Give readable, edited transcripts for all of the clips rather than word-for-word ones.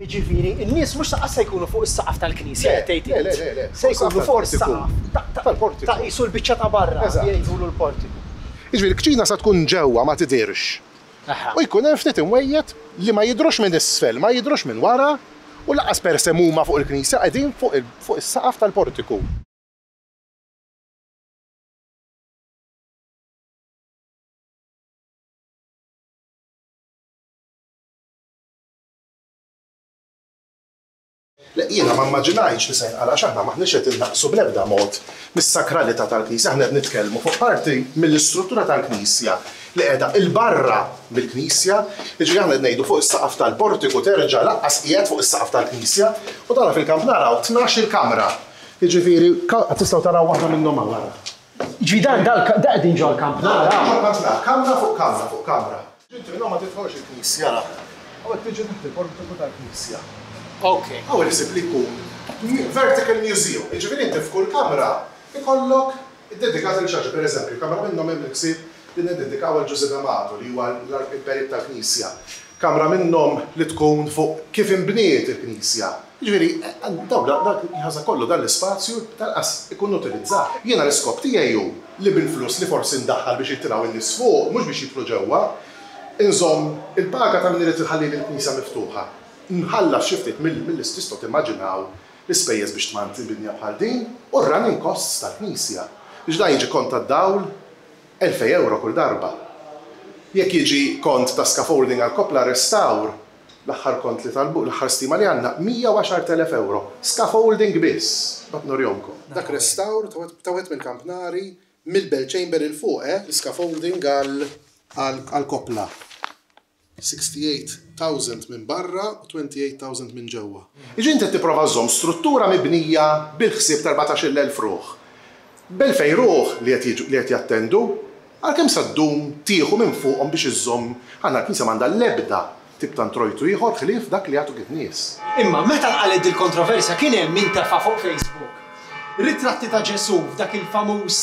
Jiġifieri, n-nies mhux lanqas se jkunu fuq is-saqaf tal-knisja qed tgħid Le, le, int. le, le, Se fuq jkunu is-saqaf fuq tal-portiku. is-saqaf. Ta' ta' Tal-portiku. ta' qisu l-biċċa ta' barra Eżatt. jgħidulu l-portiku. Jiġifieri l-kċina sa tkun ġewwa ma tidhirx. Aha. U jkun hemm ftit imwejjed li ma jidhrux minn isfel, ma jidhrux minn wara u lanqas per se m'huma fuq il-knisja, qegħdin fuq il fuq is-saqaf tal-portiku. Le, jiena ma mmaġinajtx li se jinqala' għax aħna m'aħniex qed innaqqsu bl-ebda mod mis-sakralità tal-Knisja, aħna qed nitkellmu fuq parti mill-istruttura tal-Knisja li qiegħda 'l barra mill-Knisja, jiġifieri aħna qed ngħidu fuq is-saqaf tal-portiku terġa' lanqas qiegħed fuq is-saqaf tal-Knisja u tara fil-kampnar hawn tnax-il kamra, jiġifieri tistgħu taraw waħda minnhom hawn ara. Jiġifieri dan da qegħdin ġol-kampnar hawn? Ġol-kampnar, kamra fuq kamra fuq kamra. Inti minn hawn ma tidħolx il-knisja ara. Hawn qed tiġi taħt il-portiku tal-knisja. Ok. Hawn il-ħsieb li jkun vertical museum, jiġifieri inti f'kull kamra jkollok iddedikat lil xi ħaġa. Pereżempju, kamra minnhom hemm il-ħsieb li niddedikaw għal Ġużè D'Amato li huwa l-perit tal-knisja. Kamra minnhom li tkun fuq kif inbniet il-knisja. Jiġifieri, dawn dak il-ħaża kollu, dan l-ispazju lanqas ikun utilizzat. Jiena l-iskop tiegħi hu li bil-flus li forsi ndaħħal biex jitilgħu n-nies fuq, mhux biex jidħlu ġewwa, inżomm il-paga ta' min irid iħallili l-knisja miftuħa. Nħallas xi ftit mill tistgħu timmaġinaw l-ispejjeż biex tmantni binja bħal din u r-running costs tal-knisja. Biex dan jiġi kont tad-dawl, 2000 ewro kull darba. Jekk jiġi kont ta' scaffolding għall-koppla restawr, l-aħħar kont li talbu, l-aħħar stima li għandna, 110,000 ewro. Scaffolding biss! Mbagħad nurihomkom. Dak restawr ta' wieħed mill-kampnari mill-bell chamber 'il fuq, eh, l-iscaffolding għall-koppla. 68,000 minn barra u 28,000 minn ġewwa. Jiġifieri inti qed tipprova żżomm struttura mibnija bil-ħsieb ta' 14,000 ruħ. B'elfejn ruħ li qed jiġu li qed jattendu, għal kemm sa ddum tieħu minn fuqhom biex iżżomm aħna l-Knisja m'għandha l-ebda tip ta' introjtu ieħor ħlief dak li jagħtuk in-nies. Imma meta nqalgħet dil-kontroversja kien hemm min tefa' fuq Facebook ritratti ta' Ġesù f'dak il-famuż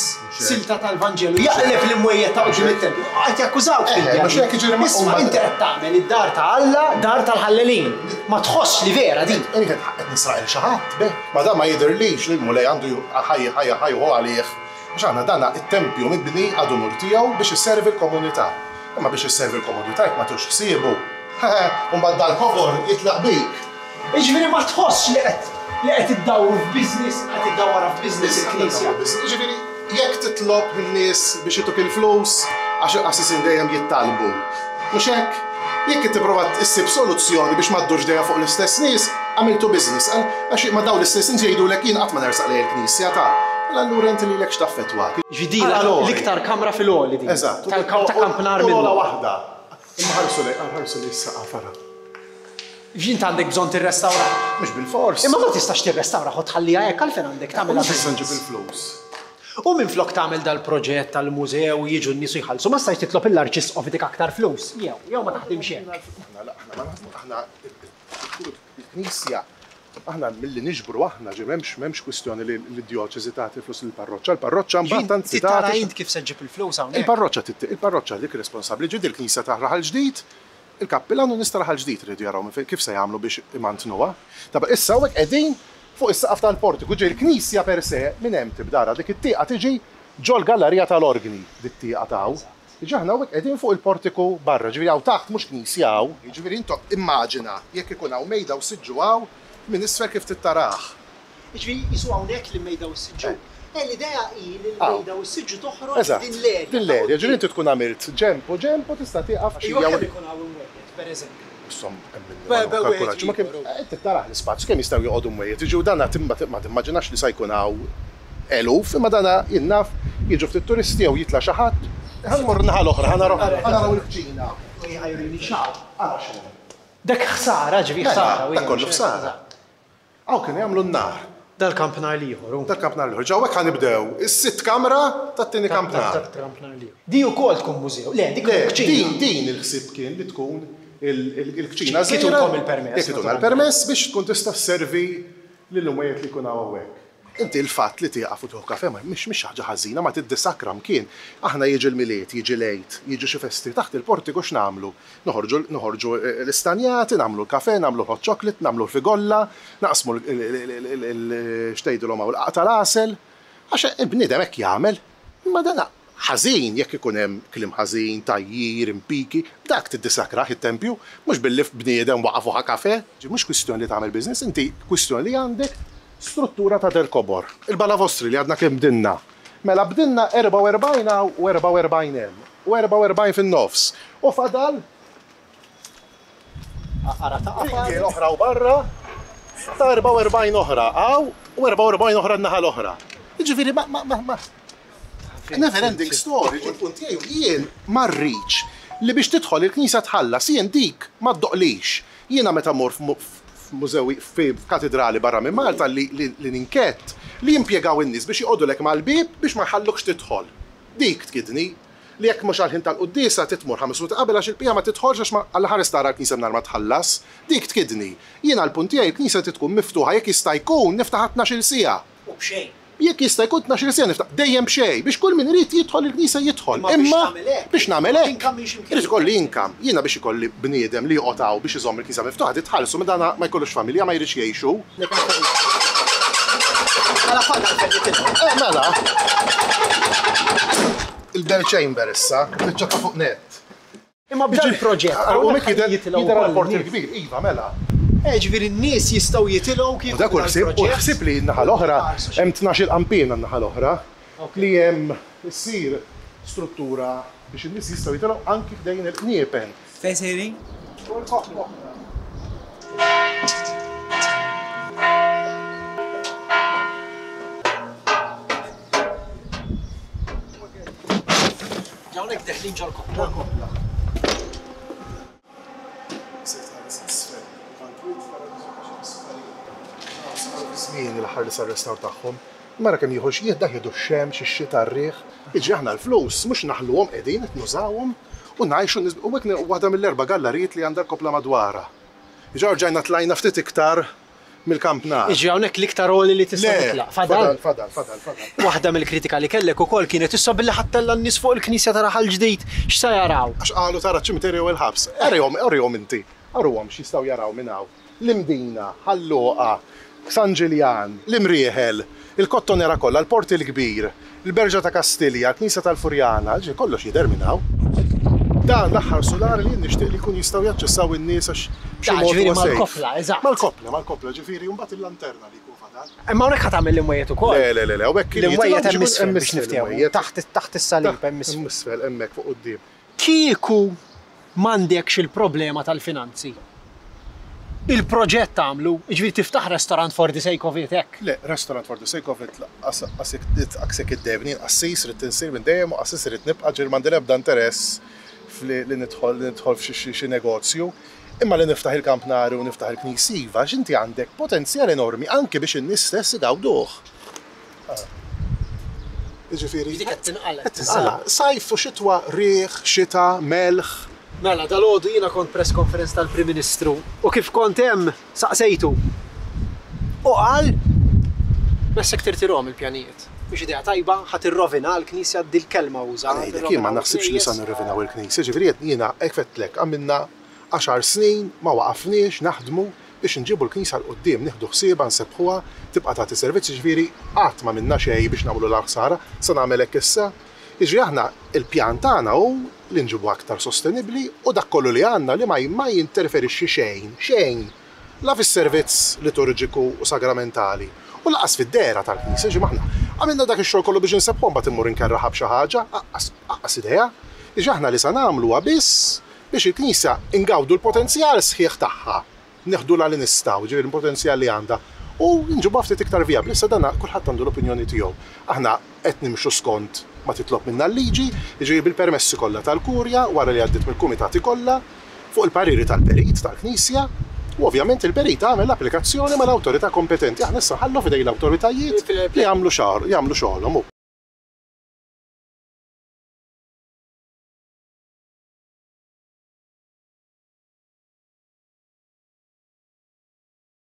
silta tal-Vanġelu jaqleb l-imwejjed ta' quddiem it-tempju. Qed jakkużawk fil-djar. Isma' inti qed tagħmel id-dar ta' Alla dar tal-ħallelin. Ma tħossx li vera din? Qed nisraq 'il xi ħadd, beh. Ma dan ma jidhirlix li l-Mulej għandu ħa ħa jieħu għalih. Għax aħna dan it-tempju mibni ad unur tiegħu biex isservi l-komunità. Imma biex isservi l-komunità jekk ma tieħux ħsiebu, hehe, u mbagħad dal-kobor jitlaq bik. Jiġifieri ma tħossx li qed li qed iddawru f'business, qed iddawwarha f'business il-Knisja? Jiġifieri jekk titlob lin-nies biex ituk il-flus, għax il-qassisin dejjem jittalbu, mhux hekk? Jekk qed tipprova issib soluzzjoni biex ma ddurx dejjem fuq l-istess nies, għamiltu business, għax ma dawn l-istess nies jgħidulek jien qatt ma nersaq lejn il-Knisja ta'. Mela allura inti lilek x'taffettwak? Jiġifieri din l-iktar kamra fil-għoli din. Eżatt. Ta' kampnar minnhom. U l-ogħla waħda. Imma ħarsu lejn, ħarsu lejn is-saqaf ara. Int għandek bżonn tirrestawraha. Mhux bilfors. Imma ma tistax tirrestawraha u tħalliha hekk għalfejn għandek tagħmilha business. Mhux nġib il-flus. U minflok tagħmel dal-proġett tal-mużew u jiġu n-nies u jħallsu, ma stajtx titlob lill-Arċisqof itik aktar flus? Jew, jew ma taħdimx hekk? Aħna, aħna ma naħdmu, aħna il-Knisja, aħna milli niġbru aħna, ġi m'hemmx m'hemmx kwistjoni li d-djoċesi tagħti l-flus lill-parroċċa, il-parroċċa mbagħad anzi tagħti. Tara int kif se ġġib il-flus hawnhekk. Il-parroċċa, il-parroċċa dik responsabbli, ġiet il-Knisja ta' Raħal Ġdid, Il-kappilan u nies ta' Raħal Ġdid iridu jaraw minn fejn kif se jagħmlu biex imantnuha. Taba' issa hawnhekk qegħdin fuq is-saqaf tal-portiku, ġifieri l-knisja per se minn hemm tibda ara dik it-tieqa tiġi ġol-gallarija tal-orgni dit-tieqa ta' hawn. Jiġifieri aħna hawnhekk qegħdin fuq il-portiku barra, ġifieri hawn taħt mhux knisja hawn. Jiġifieri intom immaġina jekk ikun hawn mejda u siġġu hawn minn isfel kif trid tarah. Jiġifieri qisu hawnhekk li mejda u s-siġġu. Eh, l-idea hi li l-mejda u s-siġġu toħroġ f'din l-erja. Eżatt, din l-erja, ġifieri inti tkun għamilt ġenb u ġenb u tista' tieqaf xi. Iva kemm ikun hawn imwejjed, pereżempju? Insomma, hemm min ma kkalkulatx, imma kemm inti tarah l-ispazju kemm jistgħu joqogħdu mwejjed, jiġu dana ma timmaġinax li sa jkun hawn eluf, imma dana jien naf jiġu ftit turisti jew jitla' xi ħadd. Ħa nmorru n-naħa l-oħra, ħa naraw il-kċina. Ħa jurini x'hawn. Ara x'hawn. Dak ħsara, ġifieri ħsara. Dak kollu ħsara. Hawn kienu jagħmlu n-nar. Dal-kampnar l-ieħor, hu. Dal-kampnar l-ieħor. Ġa hawnhekk ħa nibdew is-sitt kamra tat-tieni kampnar. Tal-kampnar l-ieħor. Di wkoll tkun mużew. Le, dik tkun kċina. Din, din il-ħsieb kien li tkun il-kċina żgħira. Jekk itukom il-permess. Jekk ituna l-permess biex tkun tista' sservi lill-imwejjed li jkun hawn hawnhekk. Inti l-fatt li tieqaf u tieħu kafè ma mhix mhix xi ħaġa ħażina, ma tiddisakra mkien. Aħna jiġi l-Milied, jiġi l-Għid, jiġu xi festi taħt il-portiku x'nagħmlu? Noħorġu noħorġu l-istanjati, nagħmlu l-kafè, nagħmlu l-hot chocolate, nagħmlu l-figolla, naqsmu l x'tgħidilhom hawn l-qagħaq tal-għasel. Għax il-bniedem hekk jagħmel. Imma dan ħażin jekk ikun hemm kliem ħażin, tgħajjir, impiki, dak tiddisakrah it-tempju, mhux billi bniedem waqaf u ħa kafè. Mhux kwistjoni li tagħmel business, inti kwistjoni li għandek struttura ta' del kobor. Il-balavostri li għadna kemm bdinna. Mela bdinna 44 hawn u 44 hemm u 44 fin-nofs. U fadal Ara ta' Ringiel oħra u barra ta' 44 oħra hawn u 44 oħra n-naħa l-oħra. Jiġifieri ma ma ma ma Never ending story, il-punt tiegħi jien ma rridx li biex tidħol il-knisja tħallas, jien dik ma ddoqlix. Jiena meta mmur f'mużewi f'katidrali barra minn Malta li li ninkett li jimpjegaw in-nies biex joqogħdulek mal-bieb biex ma jħallukx tidħol. Dik tkidni. Li jekk mhux għall-ħin tal-quddiesa trid tmur ħames minuti qabel għax il-bqija ma tidħolx għax ma Alla ħares tara l-knisja mingħajr ma tħallas. Dik tkidni. Jiena l-punt tiegħi l-knisja trid tkun miftuħa jekk jista' jkun niftaħha tnax-il siegħa. U b'xejn. Jekk jista' jkun tnax-il siegħa niftaħ, dejjem b'xejn, biex kull min irid jidħol il-knisja jidħol. Imma biex nagħmel hekk, irid ikolli income. Jiena biex ikolli bniedem li joqgħod hawn biex iżomm il-knisja miftuħa trid tħallsu, meta dan ma jkollux familja ma jridx jgħix hu. Mela fadal fejn jitilgħu. Eh mela. Il-bell chamber issa, biċċa ta' fuq nett. Imma b'dan il-proġett hawnhekk ħa jitilgħu wkoll. Jidher għall-port il-kbir, iva mela. Eh, ġifieri n-nies jistgħu jitilgħu kieku U dak hu l-ħsieb, u l-ħsieb li n-naħa l-oħra hemm tnax-il qanpiena n-naħa l-oħra li hemm issir struttura biex in-nies jistgħu jitilgħu anki ħdejn il-qniepen. Fejn sejrin? Hawnhekk deħlin ġol-koppla. Ġol-koppla. Se tħares isfel. Tal-kwiet tara Żmien l-aħħar li sar restawr tagħhom. Mara kemm jieħu x'jieħ dak jieħdu x-xemx, ix-xita, r-riħ. Jiġri aħna l-flus mhux naħluhom qegħdin qed nużawhom u ngħixu u hekk waħda mill-erba' gallarijiet li għandha l-koppla madwarha. Jiġri rġajna tlajna ftit iktar mill-kampnar. Jiġri hawnhekk l-iktar għoli li tista' titlaq. Fadal? Le, fadal, fadal, fadal. Waħda mill-kritika li kellek ukoll kienet issa billi ħa ttella' n-nies fuq il-knisja ta' Raħal Ġdid, x'sa jaraw? Għax qalu tara ċ-ċimiterju u l-ħabs. Arihom, urihom inti. Aruhom x'jistgħu jaraw minn hawn. L-Imdina, Ħal Luqa, San Ġiljan, l-Imrieħel, il-Kottonera kollha, il-Port il-Kbir, il-Berġa ta' Kastilja, il-Knisja tal-Furjana, ġifieri kollox jidher minn hawn. Dan l-aħħar sular li jien nixtieq li jkunu jistgħu jaċċessaw in-nies għax b'xi mod huwa safe. Mal-koppla, eżatt. Mal-koppla, mal-koppla, ġifieri u mbagħad il-lanterna li jkun fadal. Imma hawnhekk ħa tagħmel l-imwejjed ukoll? Le, le, le, le, hawnhekk L-imwejjed hemm isfel biex niftehmu, taħt taħt is-salib hemm isfel. Hemm isfel, hemmhekk fuq quddiem. Kieku m'għandekx il-problema tal-finanzi, il-proġett tagħmlu, jiġifieri tiftaħ restaurant for the sake of it hekk? Le, restaurant for the sake of it lanqas lanqas jekk iddejjebni, jien qassis ridt insir minn dejjem u qassis irrid nibqa' ġifieri m'għandi l-ebda interess f'li li nidħol li nidħol f'xi xi negozju. Imma li niftaħ il-kampnari u niftaħ il-knisji iva għax inti għandek potenzjal enormi anki biex in-nies stess igawduh. Jiġifieri. Dik qed tinqala'. Qed tinqala'. Sajf u xitwa, riħ, xita, melħ. Mela, dalgħodu jiena kont press conference tal-Prim Ministru u kif kont hemm saqsejtu. U qal, Messek tirtirhom il-pjanijiet. Mhix idea tajba, ħa tirrovina l-Knisja, dil-kelma uża. Ngħidlek, jien ma naħsibx li sa nirrovinaw il-Knisja, ġifieri jiena hekk għedtlek, għamilna Għaxar snin ma waqafniex naħdmu biex inġibu l-Knisja 'l quddiem, nieħdu ħsiebha, nsebbħuha, tibqa' tagħti servizz, jiġifieri qatt m'għamilna xejn biex nagħmlulha ħsara, se nagħmel hekk issa? Jiġifieri aħna l-pjan tagħna hu li nġibuha aktar sostenibbli u dak kollu li għandna li ma ma jinterferixxi xejn, xejn, la fis-servizz liturġiku u sagramentali u lanqas fid-dehra tal-Knisja, jiġifieri aħna għamilna dak ix-xogħol kollu biex insebbħuha mbagħad immur inkerraħha b'xi ħaġa, aqqas aqqas idea. Jiġifieri aħna li sa nagħmlu huwa biss Biex il-Knisja ingawdu l-potenzjal sħiħ tagħha, neħdulha li nistgħu, jiġifieri l-potenzjal li għandha, u nġibuha ftit iktar vijabbli. Issa dan kulħadd għandu l-opinjoni tiegħu. Aħna qed nimxu skont ma titlob minna l-liġi, jiġifieri bil-permessi kollha tal-Kurja, wara li għaddiet mill-kumitati kollha, fuq il-pariri tal-perit tal-Knisja, u ovvjament il-perit għamel l-applikazzjoni mal-awtorità kompetenti. Aħna issa nħallu f'idejn l-awtoritajiet li jagħmlu xogħolhom.